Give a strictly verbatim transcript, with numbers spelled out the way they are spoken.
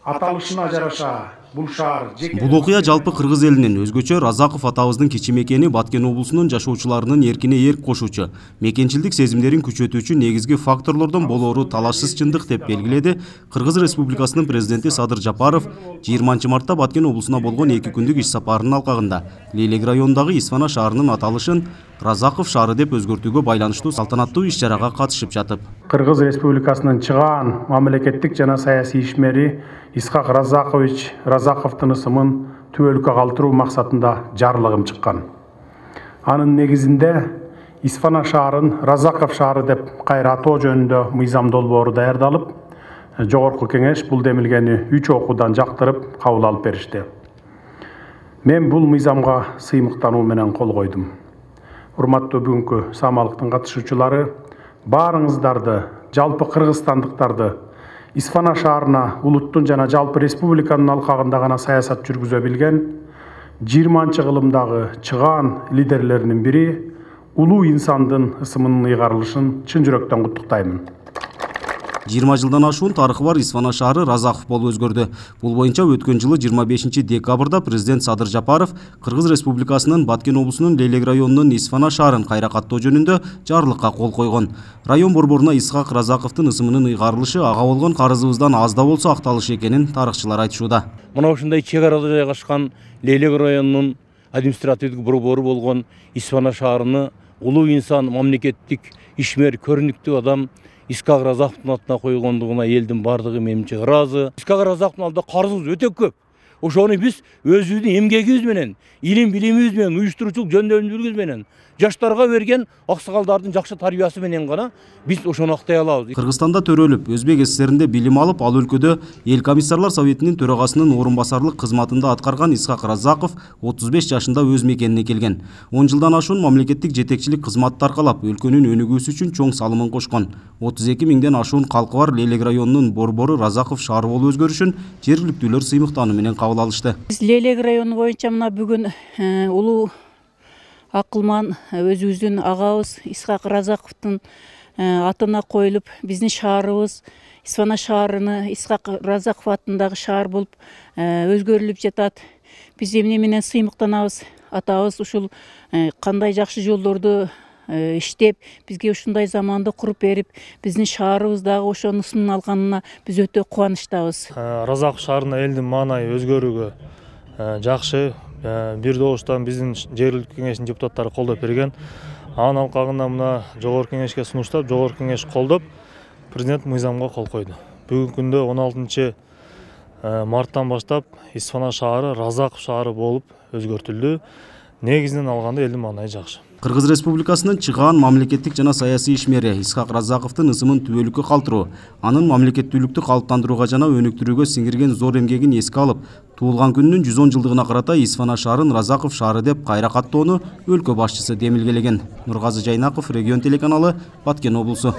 аталышына жараша бул шаар Бул окуя жалпы кыргыз элинин өзгөчө Разаков атабыздын кичи мекени Баткен облусунун жашоочуларынын эркине эрк кошуучу, мекенчилдик сезимдерин күчөтүүчү негизги факторлордон болоору талашсыз чындык деп белгиледи Кыргыз Республикасынын президенти Садыр Жапаров жыйырманчы мартта Баткен облусуна болгон эки күндүк иш сапарынын алкагында Лелек районундагы Исфана шаарынын аталышын Разаков шаары деп өзгөртүүгө байланыштуу салтанаттуу иш-чарага катышып жатып. Кыргыз Республикасынын чыгаан мамлекеттик жана саясий ишмери Исхак Разакович Разаковдун ысымын Түп өлкө калтыруу максатында жарлыгым чыккан. Анын негизинде Исфана шаарын Разаков шаары деп кайра атоо жөнүндө мыйзам долбоору даярдалып, жогорку кеңеш бул демилгени үч окуудан жактырып кабыл алып беришти. Мен бул мыйзамга сыймыктануу менен кол койдум. Урматтуу бүгүнкү самалыктын катышуучулары, баарыңыздарды, жалпы кыргызстандыктарды Исфана шаарына улуттун жана жалпы республиканын алкагында гана саясат жүргүзө билген жыйырманчы кылымдагы чыгаан лидерлеринин бири улуу инсандын ысымынын ыйгарылышын чын жүрөктөн куттуктаймын. жыйырма жылдан ашуун тарыхы бар Исфана шаары Разаков болуп өзгөрдү. Бул боюнча өткөн жылы жыйырма бешинчи декабрда президент Садыр Жапаров Кыргыз Республикасынын Баткен облусунун Лелек районунун Исфана шаарын кайра каттоо жөнүндө жарлыкка кол койгон. Район борборуна Исхак Разаковдун ысымынын ыйгарылышы ага болгон карызыбыздан аз да болсо акталышы экенин тарыхчылар айтышууда. Мына ушундай чек арада жайгашкан Лелек районунун административдик борбору болгон Исфана шаарыны улуу инсан, мамлекеттик ишмер, көрүнүктүү адам Исхак Разаковдун атына койгондугуна элдин бардыгы менимче ыраазы. Исхак Разаковдун алдында карызыбыз өтө көп. Ошону биз өзүбүздүн эмгегибиз менен, илим билимибиз менен, уюштуруучулук жөндөмдүүлүгүбүз менен, жаштарга берген аксакалдардын жакшы тарбиясы менен гана биз ошону актай алабыз. Кыргызстанда төрөлүп, Өзбек СССРинде билим алып, ал өлкөдө Эл комиссарлар советинин төрагасынын орун басарлык кызматында аткарган Исхак Разаков отуз беш жашында өз мекенине келген. он жылдан ашуун мамлекеттик жетекчилик кызматты аркалап, өлкөнүн өнүгүүсү үчүн чоң салымын кошкон. отуз эки миңден ашуун калкы бар Лелек районунун борбору Разаков шаары болуп өзгөрүшүн жергиликтүүлөр сыймыктануу менен кабыл алышты. Биз Лелек району боюнча мына бүгүн улуу акылман өзүбүздүн агабыз Исхак Разаковдун атына коюлуп, биздин шаарыбыз Исфана шаарыны Исхак Разаков атындагы шаар болуп өзгөрүлүп жатат. Биз эмне менен сыймыктанабыз? Атабыз ушул кандай жакшы жолдорду иштеп, бизге ушундай заманды куруп берип, биздин шаарыбыз дагы ошонун ысымын алганына биз өтө кубанычтабыз. Разаков шаарына элдин маанайы өзгөрүүгө жакшы, бир добуштан биздин жергиликтүү кеңештин депутаттары колдоп берген. Анын алкагында мына жогорку кеңешке сунуштап, жогорку кеңеш колдоп, президент мыйзамга кол койду. Бүгүнкү күндө он алтынчы марттан баштап Исфана шаары Разаков шаары болуп өзгөртүлдү. Негизинен алганда элдин маанайы жакшы. Кыргыз Республикасынын чыгаан мамлекеттик жана саясий ишмери Исхак Разаковдун ысымын Түп өлкө калтыруу, анын мамлекеттүүлүктү калыптандырууга жана өнүктүрүүгө сиңирген зор эмгегин эске алып, туулган күнүнүн жүз он жылдыгына карата Исфана шаарын Разаков шаары деп кайра каттоону өлкө башчысы демилгелеген. Нургазы Жайнаков, Регион телеканалы, Баткен облусу.